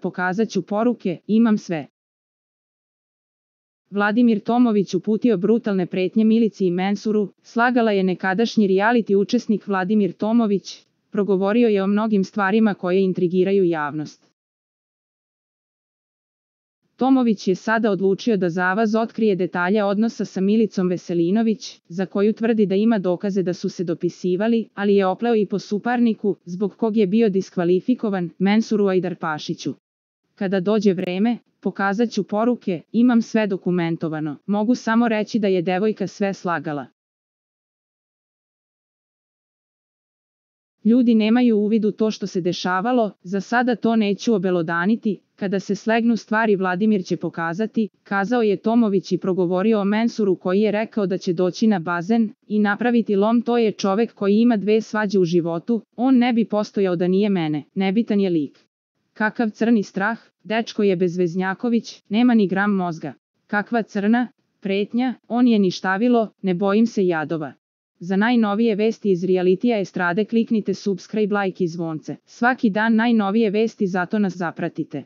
pokazat ću poruke, imam sve. Vladimir Tomović uputio brutalne pretnje Milici i Mensuru, slagala je nekadašnji reality učesnik Vladimir Tomović, progovorio je o mnogim stvarima koje intrigiraju javnost. Tomović je sada odlučio da za avaz otkrije detalje odnosa sa Milicom Veselinović, za koju tvrdi da ima dokaze da su se dopisivali, ali je opleo i po suparniku, zbog kog je bio diskvalifikovan, Mensuru Ajdarpašiću. Kada dođe vreme, pokazat ću poruke, imam sve dokumentovano, mogu samo reći da je devojka sve slagala. Ljudi nemaju uvid u to što se dešavalo, za sada to neću obelodaniti, kada se slegnu stvari Vladimir će pokazati, kazao je Tomović i progovorio o Mensuru koji je rekao da će doći na bazen i napraviti lom. To je čovek koji ima 2 svađe u životu, on ne bi postojao da nije mene, nebitan je lik. Kakav crni strah, dečko je bezveznjaković, nema ni gram mozga. Kakva crna pretnja, on je ništavilo, ne bojim se jadova. Za najnovije vesti iz realitija estrade kliknite subscribe, like i zvonce. Svaki dan najnovije vesti, zato nas zapratite.